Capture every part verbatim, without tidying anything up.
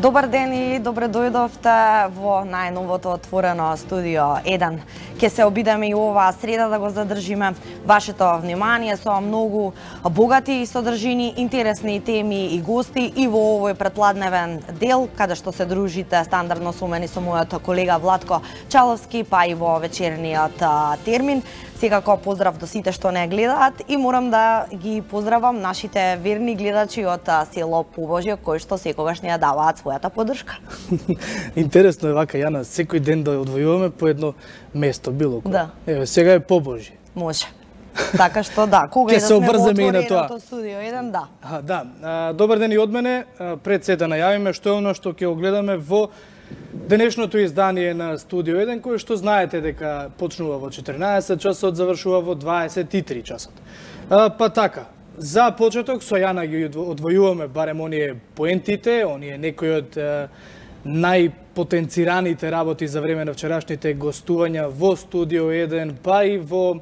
Добар ден и добре дојдовте во најновото отворено студио еден. Ке се обидеме и оваа среда да го задржиме вашето внимание со многу богати содржини, интересни теми и гости и во овој предпладневен дел, каде што се дружите стандардно со мене со мојот колега Владко Чаловски, па и во вечерниот термин. Секако поздрав до сите што не гледаат и морам да ги поздравам нашите верни гледачи од село Побожје, кои што секогаш ни ја даваат својата поддршка. Интересно е вака, Јана, секој ден да одвојуваме по едно место, било кој. Да. Еве, сега е Побожје. Може. Така што да, кога Ке и да се сме во обврземе и на тоа. отвореното студио еден, да. А, да. А, добар ден и од мене. А, пред се да најавиме што е оно што ќе огледаме во денешното издание на Студио еден, кој што знаете дека почнува во четрнаесет часот, завршува во дваесет и три часот. А, па така, за почеток со Јана ги одвојуваме барем оние поентите, оние некои од е, најпотенцираните работи за време на вчерашните гостувања во Студио еден, па и во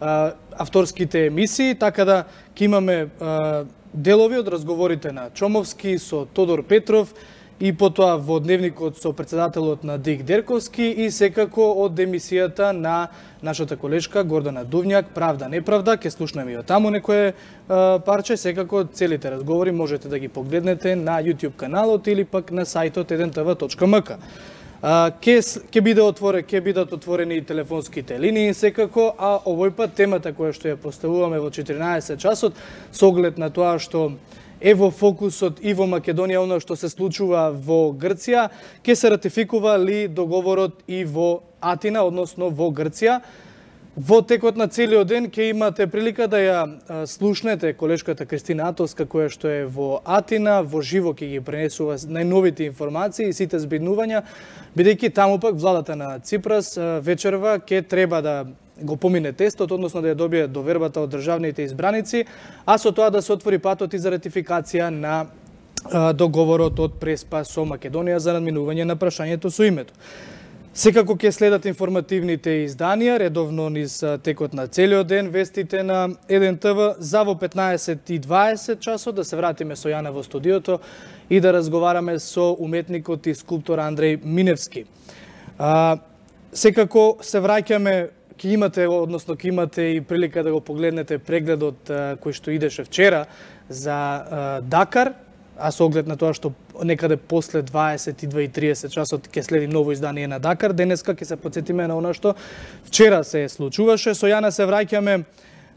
а, авторските емисии, така да ќе имаме а, делови од разговорите на Чомовски со Тодор Петров, и потоа во дневникот со председателот на Дик Дерковски и секако од емисијата на нашата колешка Гордана Дувњак, Правда, неправда, ќе слушнеме и од таму некое а, парче, секако целите разговори можете да ги погледнете на YouTube каналот или пак на сајтот еден те ви точка ем ка. Ке, ке биде отворе, ке бидат отворени и телефонските линии секако, а овој пат темата која што ја поставуваме во четрнаесет часот со оглед на тоа што е во фокусот и во Македонија оно што се случува во Грција, ке се ратификува ли договорот и во Атина, односно во Грција. Во текот на целиот ден ке имате прилика да ја слушнете колешката Кристина Атовска, која што е во Атина, во живо ќе ги пренесува најновите информации и сите збиднувања, бидејќи таму пак владата на Ципрас вечерва ке треба да го помине тестот, односно да ја добие довербата од државните избраници, а со тоа да се отвори патот и за ратификација на а, договорот од Преспа со Македонија за надминување на прашањето со името. Секако ќе следат информативните изданија, редовно низ текот на целиот ден, вестите на еден те ви, за во петнаесет и дваесет часот да се вратиме со Јана во студиото и да разговараме со уметникот и скулптор Андреј Миневски. А, секако се враќаме, ќе имате, односно ќе имате и прилика да го погледнете прегледот а, кој што идеше вчера за а, Дакар, а со оглед на тоа што некаде после дваесет и две и триесет часот ќе следи ново издание на Дакар. Денеска ќе се потсетиме на она што вчера се случуваше. Со Јана се враќаме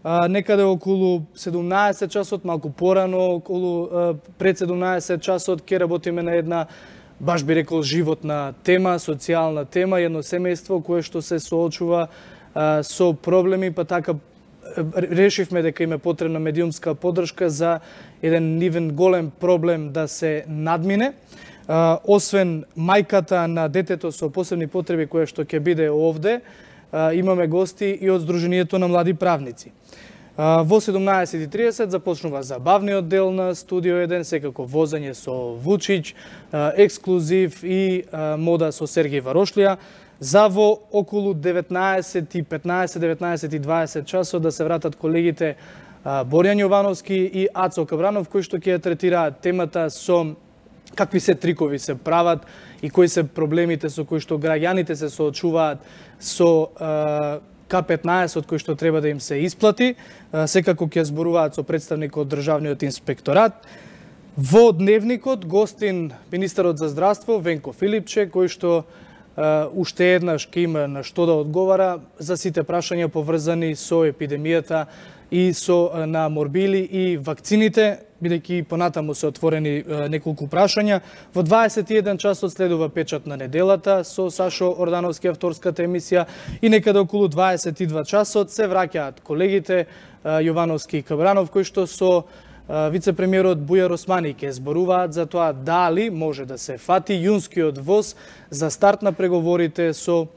а, некаде околу седумнаесет часот, малку порано, околу а, пред седумнаесет часот ќе работиме на една, баш би рекол, животна тема, социјална тема, едно семејство кое што се соочува а, со проблеми, па така решивме дека им е потребна медиумска поддршка за еден нивен голем проблем да се надмине. А, освен мајката на детето со посебни потреби кое што ќе биде овде, а, имаме гости и од Сдруженијето на млади правници. А, во седумнаесет и триесет започнува забавниот дел на Студио еден, секако возење со Вучич, а, ексклузив и а, мода со Сергеј Варошлија. За во околу деветнаесет и петнаесет, деветнаесет и дваесет часот да се вратат колегите Борјан Јовановски и Ацо Кабранов, кои што ќе ја третираат темата со какви се трикови се прават и кои се проблемите со кои што граѓаните се соочуваат со К петнаесет кој што треба да им се исплати. Секако ќе зборуваат со представник од Државниот инспекторат. Во дневникот гостин министерот за здравство Венко Филипче, кој што Uh, уште еднаш ќе има на што да одговара за сите прашања поврзани со епидемијата и со uh, на морбили и вакцините, бидејќи понатаму се отворени uh, неколку прашања. Во дваесет и еден часот следува печат на неделата со Сашо Ордановски, авторската емисија, и некаде околу дваесет и два часот се враќаат колегите uh, Јовановски и Кабранов, кои што со вице-премиерот Бујар Османи ќе зборуваат за тоа дали може да се фати јунскиот воз за старт на преговорите со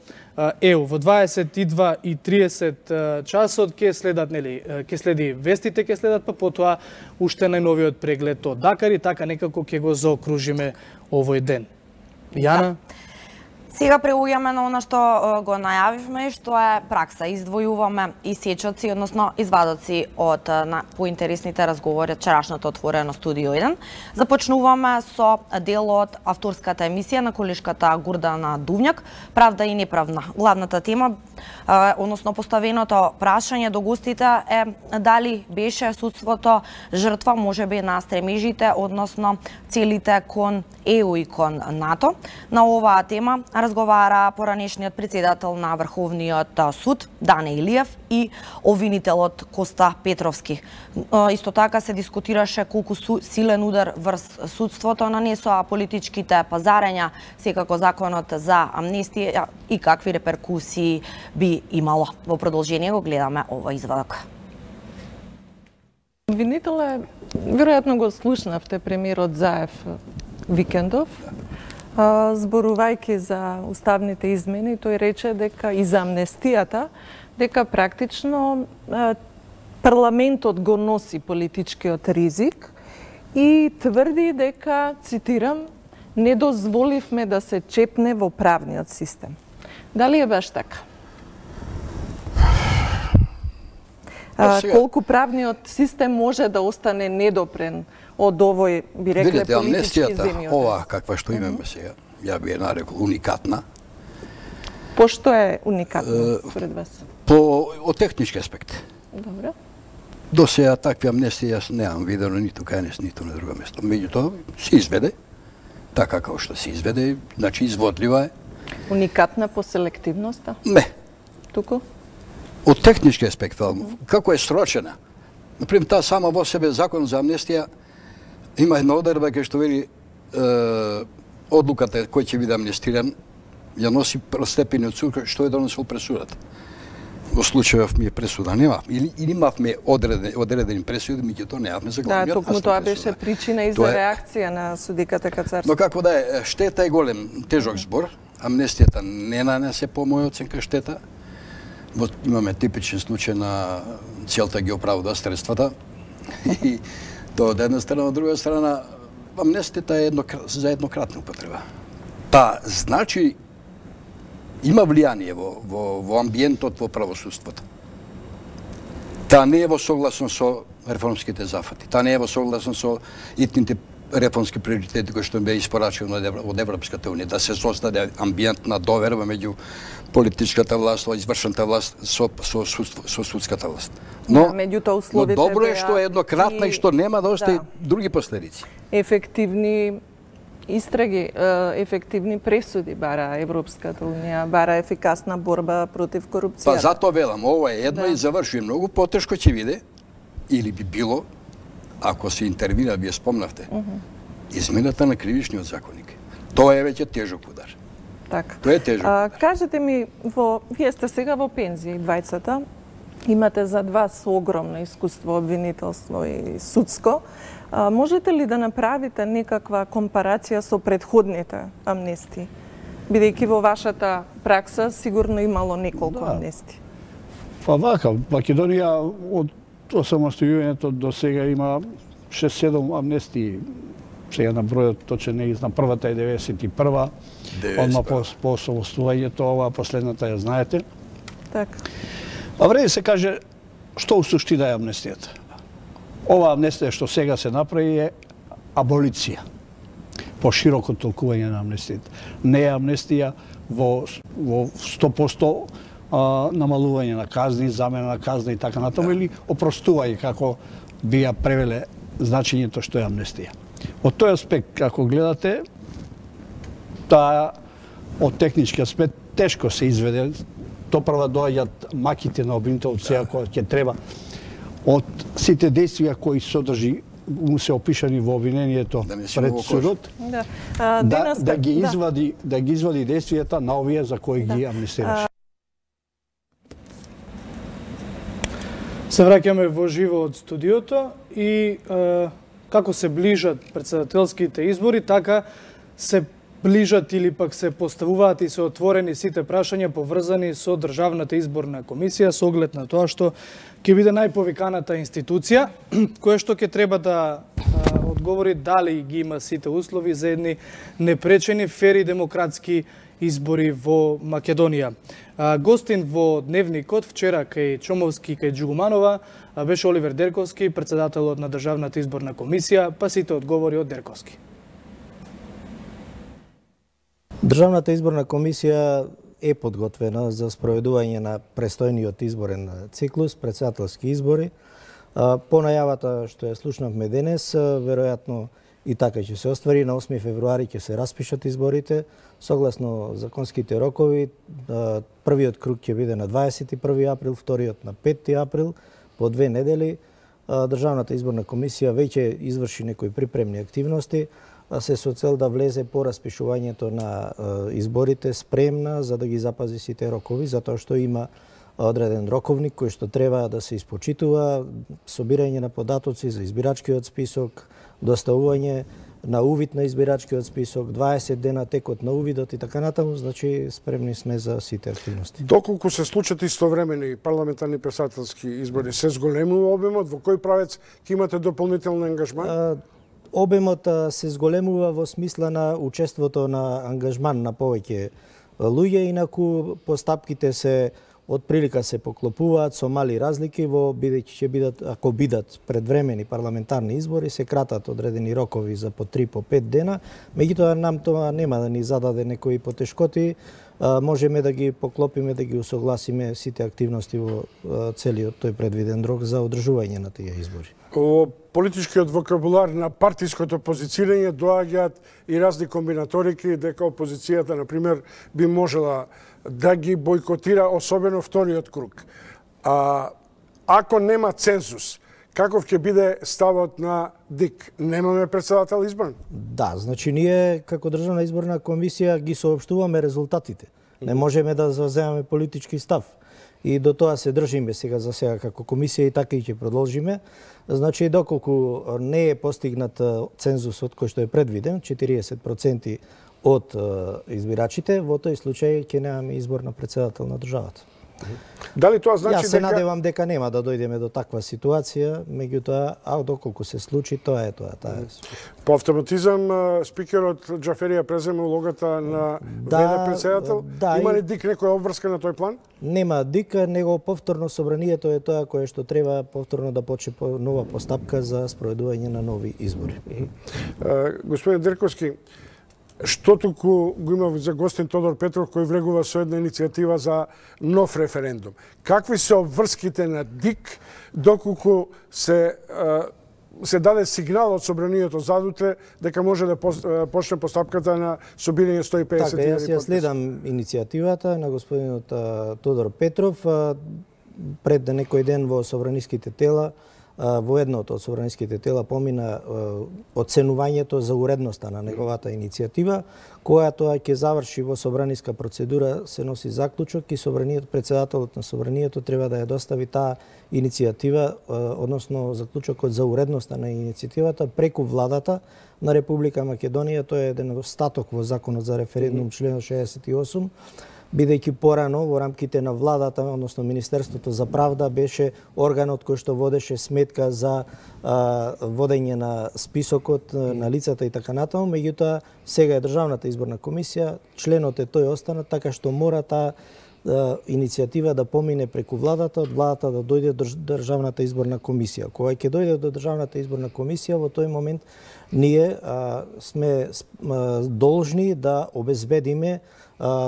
Е У. Во дваесет и два и триесет часот ќе следат, нели, ќе следи вестите, ќе следат, па потоа уште најновиот преглед од Дакар и така некако ќе го заокружиме овој ден. Јана? Да. Сега преуѓаме на она што го најавивме, што е пракса. Издвојуваме исечоци, односно извадоци од поинтересните разговори од вчерашното отворено студио еден. Започнуваме со дел од авторската емисија на колешката Гурдана Дувњак, Правда и неправда. Главната тема, односно поставеното прашање до гостите е дали беше судството жртва можеби на стремежите, односно целите кон Е У и кон НАТО. На оваа тема разговара поранешниот председател на Врховниот суд Дане Илиев и обвинителот Коста Петровски. Исто така се дискутираше колку силен удар врз судството нанесоа политичките пазарења, секако законот за амнестија и какви реперкусии би имало. Во продолжение го гледаме овој извадок. Обвинителе, веројатно го слушнавте премиерот Заев викендов, зборувајќи за уставните измени, тој рече дека и за амнестијата, дека практично парламентот го носи политичкиот ризик и тврди дека, цитирам, не дозволивме да се чепне во правниот систем. Дали е баш така? А, колку правниот систем може да остане недопрен од овој, би рекле, политички политички земјотрес? земјотрес? Ова, каква што имаме сега, ја би ја нарекол уникатна. По што е уникатно според вас? По од технички аспект. Добро. До сега такви амнестии јас немам видено ниту кај нас, ниту на друго место. Меѓутоа се изведе, така како што се изведе, значи изводлива е. Уникатна по селективноста? Не. Туку? Од технички аспект, како е срочена. Например, таа сама во себе закон за амнестија има една одредба кај што вели е, одлуката кој ќе биде амнестиран ја носи првостепениот суд што е донесол пресудата. Во случајов ми е пресуда нема или или имавме одредени одредени пресуди, меѓутоа немавме за главниот. Да, токму тоа беше причина и за реакција на судиката Кацарски. Но како да е, штета е голем, тежок збор. Амнестијата не нанесе по моја оценка штета. Вот имаме типичен случај на целта ги оправда средствата. И тоа од една страна, од друга страна, амнестијата е едно, за еднократна употреба. Па, значи, има влијание во, во, во амбиентот во правосудството. Таа не е во согласно со реформските зафати. Таа не е во согласно со итните реформски приоритети кои што беа испорачени од Европската унија, да се создаде амбиент на доверба меѓу политичката власт, извршната власт со со, со, со судската власт. Но, да, но добро е што е еднократна и, и што нема да остави да. други последици. Ефективни истраги, ефективни пресуди бара Европската унија, бара ефикасна борба против корупцијата. Па затоа велам, ова е едно да. и завршува многу потешко ќе биде или би било ако се интервира, вие спомнавте, uh -huh. измената на кривичниот законник. Тоа е веќе тежок удар. Така. Тоа е тежок. А, кажете ми, во, вие сте сега во пензија, двајцата, имате зад вас огромно искуство, обвинителство и судско. А, можете ли да направите некаква компарација со предходните амнестии? Бидејќи во вашата пракса сигурно имало неколку да. амнестии. Па вака, Македонија од осамостојувањето до сега има шест-седум амнестии. Сега на бројот точен не знам, првата е деветдесет и прва, одма по, по осамостојувањето, ова последната ја знаете. Така. А вреди се каже што у суштина е амнестијата. Ова амнестија што сега се направи е аболиција. По широко толкување на амнестијата. Не е амнестија во, во сто посто а, намалување на казни, замена на казни и така натаму, или опростување, како би ја превеле значењето што е амнестија. Од тој аспект, како гледате, таа од технички аспект тешко се изведе. То прва доаѓаат маките на обвинителот сега кога ќе треба од сите действија кои содржи му се опишани во обвинението да пред судот, да. А, да, да ги извади да. да ги извади действијата на овие за кои да. ги амнестираше. Се враќаме во живо од студиото и е, како се ближат претседателските избори, така се ближат или пак се поставуваат и се отворени сите прашања поврзани со Државната изборна комисија со оглед на тоа што ќе биде најповиканата институција која што ќе треба да а, одговори дали ги има сите услови за едни непречени, фери демократски избори во Македонија. Гостин во Дневникот вчера кај Чомовски и кај Джугуманова беше Оливер Дерковски, председателот на Државната изборна комисија, па сите одговори од Дерковски. Државната изборна комисија е подготвена за спроведување на престојниот изборен циклус, председателски избори. По најавата што ја слушнавме денес, веројатно и така ќе се оствари. На осми февруари ќе се распишат изборите. Согласно законските рокови, првиот круг ќе биде на дваесет и први април, вториот на петти април, по две недели. Државната изборна комисија веќе изврши некои припремни активности, се со цел да влезе по распишувањето на изборите спремна за да ги запази сите рокови, затоа што има одреден роковник кој што треба да се испочитува, собирање на податоци за избирачкиот список, доставување на увид на избирачкиот список, дваесет дена текот на увидот и така натаму, значи спремни сме за сите активности. Доколку се случат истовремени парламентарни председателски избори, се зголемува обемот, во кој правец ќе имате дополнителен ангажман? Обемот се зголемува во смисла на учеството на ангажман на повеќе луѓе, инаку постапките се од прилика се поклопуваат со мали разлики, во бидејќи ќе бидат, ако бидат предвремени парламентарни избори, се кратат одредени рокови за по три по пет дена. Меѓутоа нам тоа нема да ни зададе некои потешкоти, можеме да ги поклопиме, да ги усогласиме сите активности во целиот тој предвиден рок за одржување на тие избори. Во политичкиот вокабулар на партиското позицирање доаѓаат и разни комбинаторики дека опозицијата, например, би можела да ги бойкотира, особено вториот круг. А, ако нема цензус, каков ќе биде ставот на ДИК? Немаме председател избран? Да, значи ние како Државна изборна комисија ги соопштуваме резултатите. Не можеме да заземаме политички став. И до тоа се држиме сега за сега како комисија и така и ќе продолжиме. Значи, доколку не е постигнат цензусот кој што е предвиден, четириесет проценти од избирачите, во тој случај ќе немаме избор на председател на државата. Дали тоа значи Јас се дека... надевам дека нема да дојдеме до таква ситуација, меѓутоа, а доколку се случи, тоа е тоа. Таа е. По автоматизам спикерот Џаферија презема улогата на да, ве-де председател? Да, Има ли и... ДИК некоја обврска на тој план? Нема ДИК, него повторно собранието е тоа кое што треба повторно да почне нова постапка за спроведување на нови избори. Господин Дерковски, што туку го има за гостин Тодор Петров кој влегува со една иницијатива за нов референдум. Какви се обврските на ДИК доколку се се даде сигнал од собранието задутре дека може да почне постапката на собирање сто и педесет така, јас ја следам иницијативата на господинот Тодор Петров. Пред некој ден во собраниските тела, во едното од собраниските тела помина оценувањето за уредноста на неговата иницијатива, која тоа ќе заврши во собраниска процедура, се носи заклучок и собраниот председателот на собранието треба да ја достави таа иницијатива, односно заклучокот за уредноста на иницијативата преку владата на Република Македонија. Тоа е еден остаток во законот за референдум член шеесет и осум. Бидејќи порано во рамките на владата, односно Министерството за правда, беше органот кој што водеше сметка за а, водење на списокот на лицата и така натаму, меѓутоа сега е Државната изборна комисија, членот е тој останат, така што мора таа иницијатива да помине преку владата, од владата да дојде до Државната изборна комисија. Кога ќе дојде до Државната изборна комисија, во тој момент ние а, сме а, должни да обезбедиме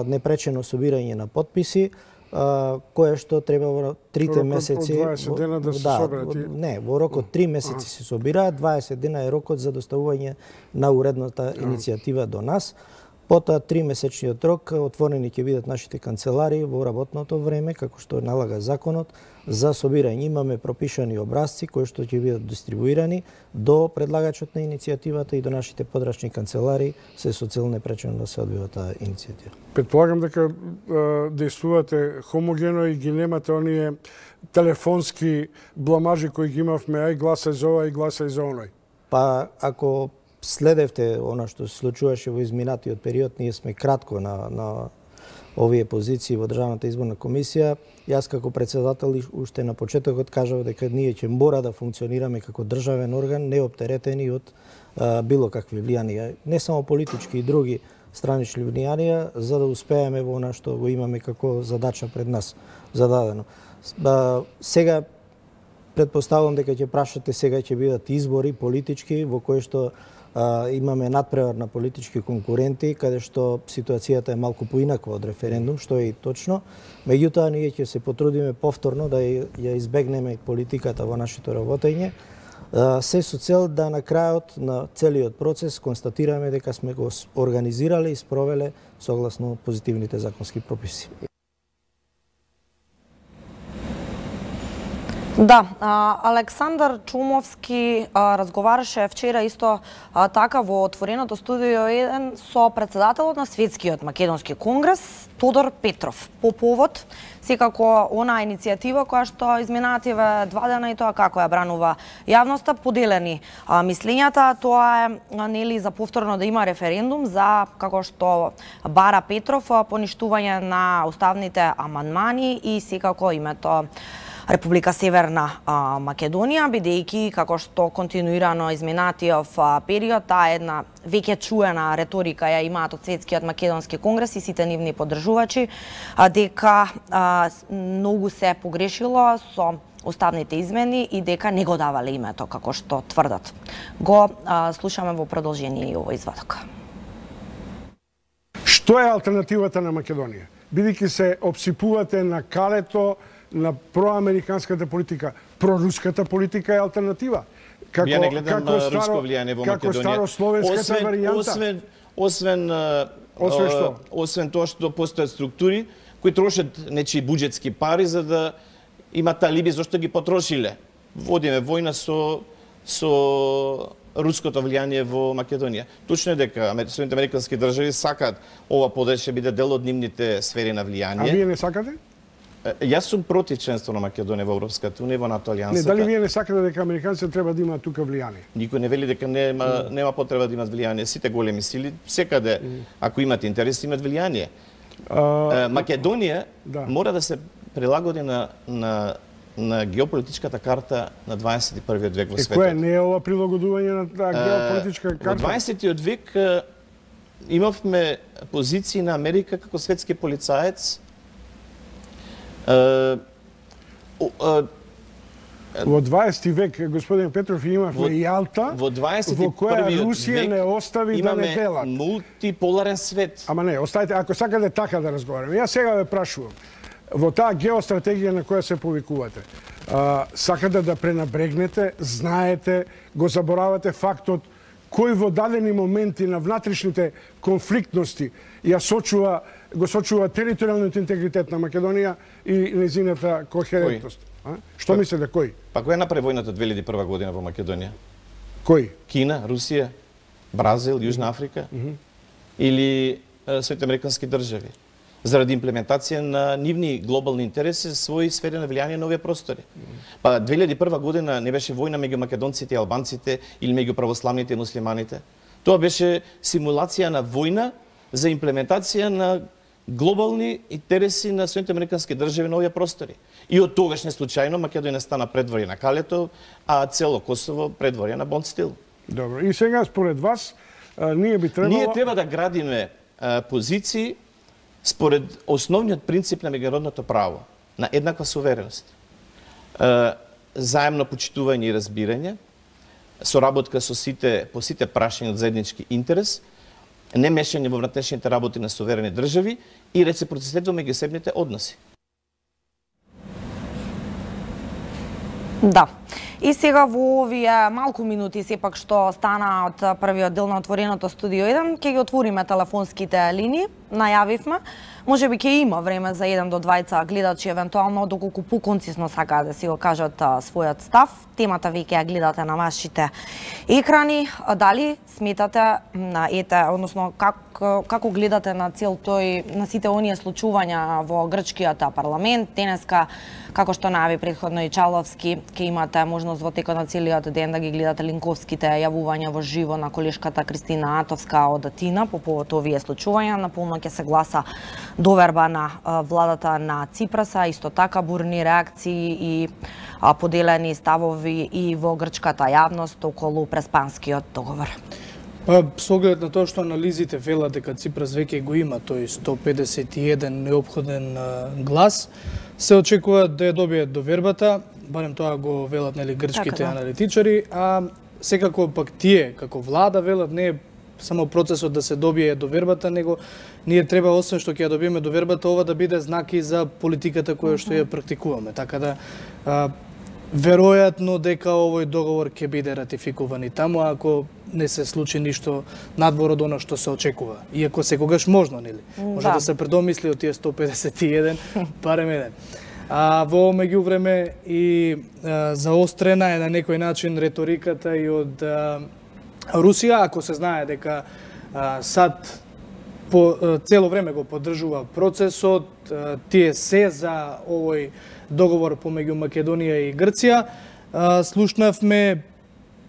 непречено собирање на потписи, кое што треба во трите месеци... Во дваесет дена да се да, соберат? Не, во рок од три месеци се собираат, дваесет дена е рокот за доставување на уредната иницијатива до нас. Потоа три месечниот рок отворени ќе бидат нашите канцелари во работното време, како што налага законот, за собирање. Имаме пропишани образци кои што ќе бидат дистрибуирани до предлагачот на иницијативата и до нашите подрачни канцелари, се со цел непречено да се одвива таа иницијатива. Предполагам дека действувате хомогено и ги немате оние телефонски бламажи кои ги имавме, ај гласај за ова и гласај за оној. Па ако следевте она што се случуваше во изминатиот период, ние сме кратко на, на овие позиции во Државната изборна комисија. Јас како председател уште на почетокот кажав дека ние ќе мора да функционираме како државен орган, неоптеретени од а, било какви влијанија, не само политички и други, странични влијанија за да успееме во она што го имаме како задача пред нас зададено. Сега претпоставувам дека ќе прашате сега ќе бидат избори политички во кои што а, имаме надпревар на политички конкуренти, каде што ситуацијата е малку поинаква од референдум, што е и точно. Меѓутоа, ние ќе се потрудиме повторно да ја избегнеме политиката во нашето работење, се со цел да на крајот на целиот процес констатираме дека сме го организирале и спровеле согласно позитивните законски прописи. Да, Александар Чумовски разговараше вчера исто така во отвореното студио еден со председателот на Светскиот македонски конгрес Тодор Петров по повод секако она иницијатива која што изминативе два дена и тоа како ја бранува јавноста, поделени мислењата, тоа е нели за повторно да има референдум за како што бара Петров поништување на уставните амандмани и секако името Република Северна а, Македонија, бидејќи како што континуирано изминатиот период, таа една веќе чуена реторика ја имаат од Светскиот македонски конгрес и сите нивни поддржувачи, а, дека а, многу се погрешило со уставните измени и дека не го давале името како што тврдат. Го а, слушаме во продолжение и овој извадок. Што е алтернативата на Македонија? Бидејќи се обсипувате на калето на проамериканската политика, проруската политика е алтернатива. Како, Ја не гледам како старо, руско влијание во Македонија. Како старословенската освен, варијанта. Освен, освен, освен, што? освен тоа што постојат структури кои трошат нечии буџетски пари за да имат алиби зашто ги потрошиле. Водиме војна со со руското влијание во Македонија. Точно е дека Соединените американски држави сакаат ова подрачје биде дел од нивните сфери на влијание. А вие не сакате? Јас сум против членство на Македонија во Европската унија, во НАТО алијансата. Не, дали вие не сакате дека американците треба да имаат тука влијание? Никој не вели дека нема mm. нема потреба да имат влијание. Сите големи сили секаде mm. ако имат интерес имат влијание. Uh, Македонија да. мора да се прилагоди на на на геополитичката карта на дваесет и првиот век во е, светот. Кој не е ова прилагодување на таа геополитичка карта? Во дваесетиот век имавме позиции на Америка како светски полицаец. Uh, uh, Во дваесети век, господин Петров, имавме Јалта, во, во која Русија не остави да не делат. Имаме мултиполарен свет. Ама не, оставите, ако сакате така да разговараме. Јас сега ве прашувам, во таа геостратегија на која се повикувате, а, сакате да пренабрегнете, знаете, го заборавате фактот кој во дадени моменти на внатрешните конфликтности ја сочува, го сочува територијалниот интегритет на Македонија и незината кохерентност. А? Што па, мислите, кој? Па кој направи војната две илјади и прва година во Македонија? Кој? Кина, Русија, Бразил, Јужна Африка mm -hmm. или Соединените американски држави? Заради имплементација на нивни глобални интереси, своји сфери на влијание на овие простори. Mm -hmm. Па две илјади и прва година не беше војна меѓу македонците и албанците или меѓу православните и муслиманите. Тоа беше симулација на војна за имплементација на глобални интереси на Соединените американски држави на овие простори. И од тогаш не случајно Македонија стана предворје на Калето, а цело Косово предворје на Бондстил. Добро. И сега според вас а, ние би требало Ние треба да градиме а, позиции според основниот принцип на меѓународното право, на еднаква сувереност. А, заемно почитување и разбирање, соработка со сите по сите прашања од заеднички интерес, не мешање во внатрешните работи на суверени држави и реципроцитет во меѓусебните односи. Да. И сега во овие малку минути сепак што стана од првиот дел на отвореното студио еден, ќе ги отвориме телефонските линии, најавивме. Можеби ќе има време за еден до двајца гледачи евентуално доколку поконцисно сакаат да си го кажат својот став. Темата веќе ја гледате на вашите екрани. Дали сметате на ете, односно как, како гледате на цел тој на сите оние случувања во грчкиот парламент денеска, како што најави претходно и Чаловски, ќе имате можност во текот на целиот ден да ги гледате линковските јавувања во живо на колешката Кристина Атовска од Атина по повод овие случувања. Наполно ќе се гласа доверба на владата на Ципраса, исто така бурни реакции и поделени ставови и во грчката јавност околу преспанскиот договор. Па, со оглед на тоа што анализите велат дека Ципрас веќе го има тој сто педесет и еден неопходен глас, се очекува да ја добие довербата, барем тоа го велат нели грчките така, да. аналитичари, а секако пак тие како влада велат не е само процесот да се добие довербата, него ние треба освен што ќе ја добиеме довербата, ова да биде знаки за политиката која што ја практикуваме. Така да а, веројатно дека овој договор ќе биде ратификуван и таму ако не се случи ништо надвор од она што се очекува. Иако секогаш можно, нели? Може да, да се предомисли од тие сто педесет и еден, барем еден. А во меѓувреме и а, заострена е на некој начин реториката и од а, Русија, ако се знае дека а, САД по а, цело време го поддржува процесот, а, тие се за овој договор помеѓу Македонија и Грција, а, слушнавме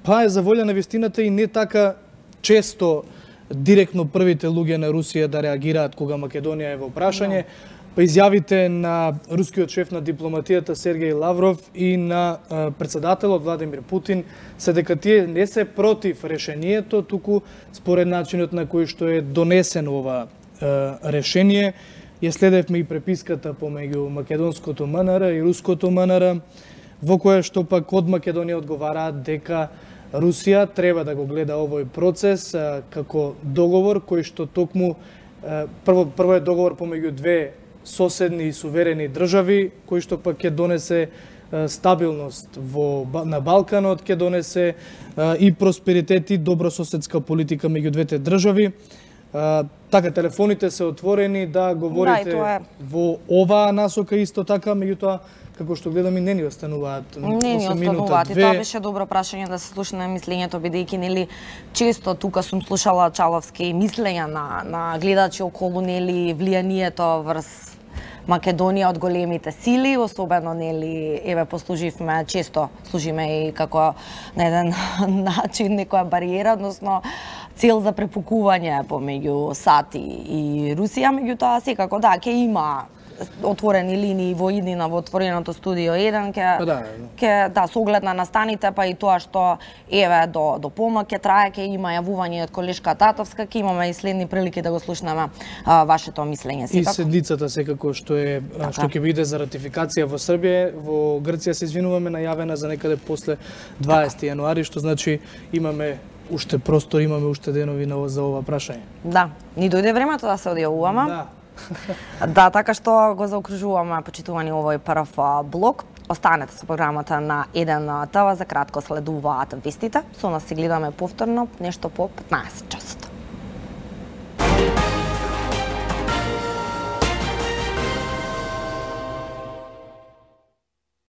па е за волја на вистината и не така често директно првите луѓе на Русија да реагираат кога Македонија е во прашање. Па изјавите на рускиот шеф на дипломатијата Сергеј Лавров и на а, председателот Владимир Путин се дека тие не се против решението, туку според начинот на кој што е донесено ова а, решение. Ја следевме и преписката помеѓу македонското МНР и руското МНР, во која што пак од Македонија одговараат дека Русија треба да го гледа овој процес а, како договор кој што токму а, прво прво е договор помеѓу две соседни и суверени држави, кој што пак ќе донесе а, стабилност во на Балканот, ќе донесе а, и просперитет и добрососедска политика меѓу двете држави. А, така телефоните се отворени да говорите да, е... во оваа насока исто така, меѓутоа како што гледам и не ни остануваат не ни остануваат. И тоа беше добро прашање да се слуша на мислењето, бидејќи нели често тука сум слушала Чаловски мислења на на гледачи околу нели влијанието врз Македонија од големите сили, особено нели еве послуживме често служиме и како на еден начин некоја бариера, односно цел за препукување помеѓу САД и Русија, меѓутоа секако да ќе има отворени линии во иднина во отвореното студио еден ќе да, ќе да со оглед на настаните, па и тоа што еве до до помак ќе трае, ќе има јавување од колешка Татовска, ќе имаме и следни прилики да го слушнеме а, вашето мислење секако. И седницата секако што е така. Што ќе биде за ратификација во Србија, во Грција се извинуваме, најавена за некаде после дваесети јануари, што значи имаме уште простор, имаме уште денови на за ова прашање. Да, ни дојде времето да се одјавуваме. Да. Да, така што го заокружуваме почитувани овој прв блок. Останете со програмата на еден ТВ, за кратко следуваат вестите. Со нас се гледаме повторно нешто по петнаесет часот.